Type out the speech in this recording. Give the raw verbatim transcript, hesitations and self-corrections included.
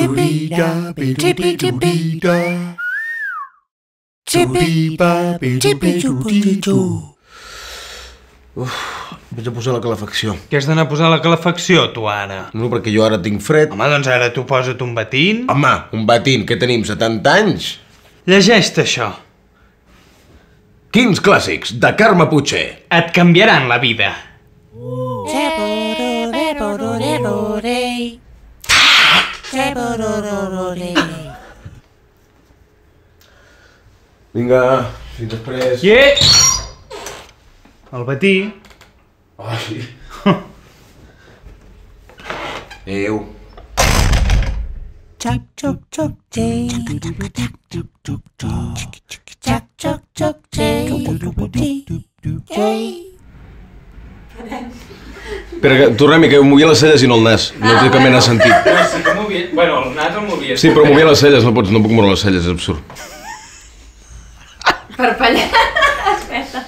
Churida, churida. Churida, churida. Uf, vaig a posar la calefacció. Què has d'anar a posar la calefacció, tu, ara? No, perquè jo ara tinc fred. Home, doncs ara tu posa't un batín. Home, un batín, que tenim setanta anys? Llegeix-te això. Quins clàssics, de Carme Puigcer. Et canviaran la vida. Vinga, fins després. Yeah! El batí. Ai. Adéu. Choc, choc, choc, jay. Choc, choc, choc, jay. Jay. Espera, que tornem-hi, que movia les celles i no el nas. No té cap mena de sentit. Però sí que movia... Bueno, el nas el movia. Sí, però movia les celles, no pots, no puc moure les celles, és absurd. Per pallar. Espera.